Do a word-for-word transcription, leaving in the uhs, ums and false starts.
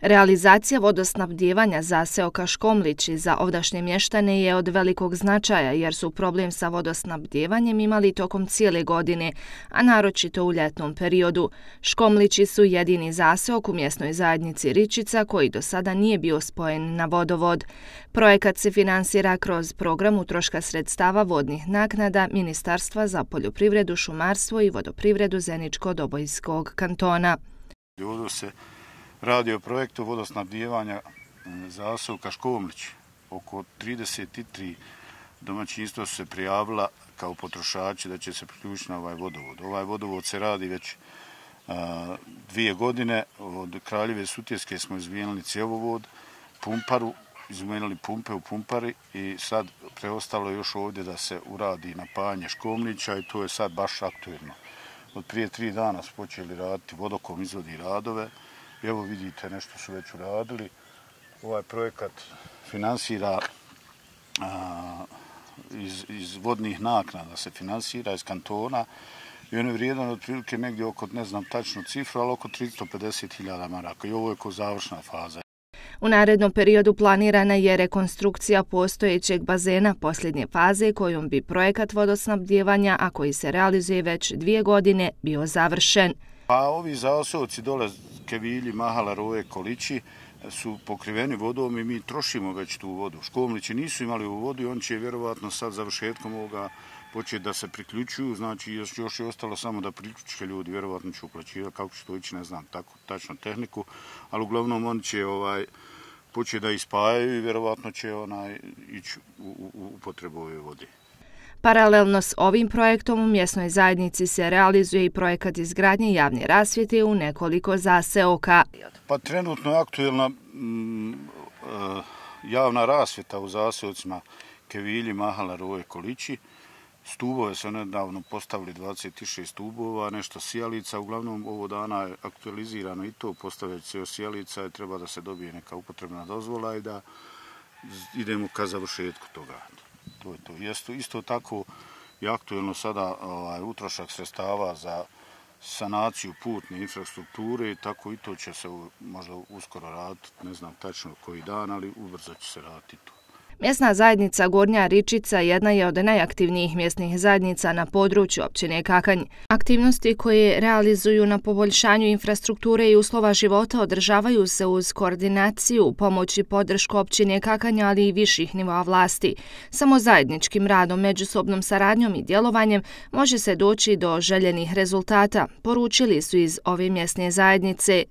Realizacija vodosnabdijevanja zaseoka Škomlići za ovdašnje mještane je od velikog značaja jer su problem sa vodosnabdijevanjem imali tokom cijele godine, a naročito u ljetnom periodu. Škomlići su jedini zaseok u mjesnoj zajednici Ričica koji do sada nije bio spojen na vodovod. Projekat se finansira kroz program utroška sredstava vodnih naknada Ministarstva za poljoprivredu, šumarstvo i vodoprivredu Zeničko-Dobojskog kantona. Ovdje se radi o projektu vodosnabdijevanja zaseoka Škomlić. Oko trideset tri domaćinstva su se prijavila kao potrošači da će se priključiti na ovaj vodovod. Ovaj vodovod se radi već a, dvije godine. Od Kraljeve Sutjeske smo izmijenili cjevovod, pumparu, izmijenili pumpe u pumpari i sad preostalo još ovdje da se uradi napajanje Škomlića i to je sad baš aktuelno. Od prije tri dana su počeli raditi, Vodokom izvodi radove. Evo vidite, nešto su već uradili. Ovaj projekat finansira a, iz, iz vodnih naknada, se finansira iz kantona i on je vrijedan otprilike negdje oko, ne znam tačnu cifru, ali oko tristo pedeset hiljada maraka i ovo je ko završna faza. U narednom periodu planirana je rekonstrukcija postojećeg bazena posljednje faze kojom bi projekat vodosnabdijevanja, a koji se realizuje već dvije godine, bio završen. Pa ovi zaseoci dole, Kevilji, Mahala, Roje, Kolići, su pokriveni vodom i mi trošimo već tu vodu. Škomlići nisu imali ovu vodu i on će vjerovatno sad završetkom ovoga početi da se priključuju, znači još, još je ostalo samo da priključke ljudi, vjerovatno će uplaćivati, kako će to ići, ne znam tako, tačno tehniku, ali uglavnom oni će ovaj, početi da ispajaju i vjerovatno će onaj, ići u, u, u potrebu ove vode. Paralelno s ovim projektom u mjesnoj zajednici se realizuje i projekat izgradnje javne rasvjete u nekoliko zaseoka. Pa trenutno je aktuelna mm, uh, javna rasvjeta u zaseocima Kevilji, Mahala, Roje, Kolići. Stubove su nedavno postavili dvadeset šest stubova, nešto sijalica. Uglavnom ovo dana je aktualizirano i to, postavljaju se sijalica i treba da se dobije neka upotrebna dozvola i da idemo ka završetku toga. To je to. Isto, isto tako je aktuelno sada ovaj, utrošak sredstava za sanaciju putne infrastrukture i tako i to će se možda uskoro raditi, ne znam tačno koji dan, ali ubrzo će se raditi to. Mjesna zajednica Gornja Ričica jedna je od najaktivnijih mjesnih zajednica na području općine Kakanj. Aktivnosti koje realizuju na poboljšanju infrastrukture i uslova života održavaju se uz koordinaciju, pomoć i podršku općine Kakanj, ali i viših nivoa vlasti. Samo zajedničkim radom, međusobnom saradnjom i djelovanjem može se doći do željenih rezultata, poručili su iz ove mjesne zajednice.